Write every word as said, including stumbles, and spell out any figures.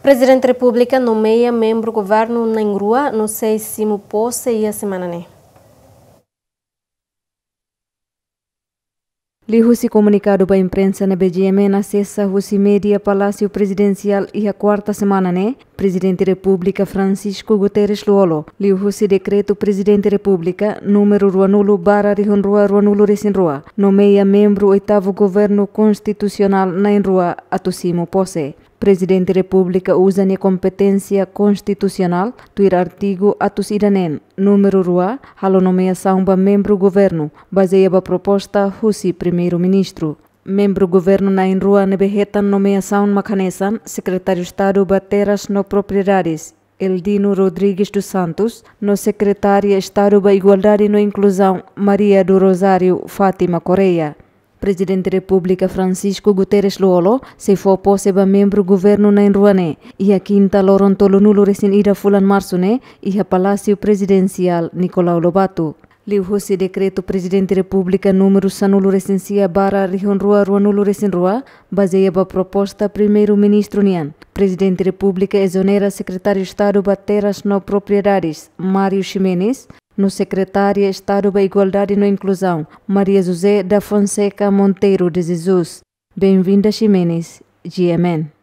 Prezidente Repúblika nomeia membru governu na'in-rua no sei simu pose iha semana ne'e. Liuhusi komunikadu ba imprensa ne'ebé GMN asesa husi média Palásiu Prezidensiál iha kuarta semana ne'e, Prezidente Repúblika Francisco Guterres Lú-Olo, liuhusi dekretu Prezidente Repúblika númeru ruanulu barra rihun rua ruanulu resin rua, nomeia membru oitavu governu konstitusionál na'in-rua atu simu pose. Prezidente Repúblika uza nia kompeténsia konstitusionál, tuir artigu atus ida neen, númeru rua, halo nomeasaun ba membru governu, bazeia ba proposta husi Primeiru-Ministru. Membru governu na'in-rua ne'ebé hetan nomeasaun mak hanesan Sekretáriu Estadu ba Terras no Propriedades, Eldino Rodrigues dos Santos, no Sekretária Estadu ba Igualdade no Inkluzaun, Maria do Rosário Fátima Correia. Prezidente Repúblika Francisco Guterres Lú-Olo sei fó pose ba membru governu na'in-rua ne'e iha kinta loron tolunulu resin ida fulan marsu ne'e iha Palásiu Prezidensiál Nicolau Lobato. Liuhusi dekretu Prezidente Repúblika númeru sanulu resin sia barra rihun rua ruanulu resin rua, bazeia ba proposta Primeiru-Ministru nian, Prezidente Repúblika ezonera Sekretáriu Estadu ba Terras no Propriedades, Mário Ximenes, no Sekretária Estadu ba Igualdade no Inkluzaun, Maria José da Fonseca Monteiro de Jesus. Benvinda Ximenes, GMN.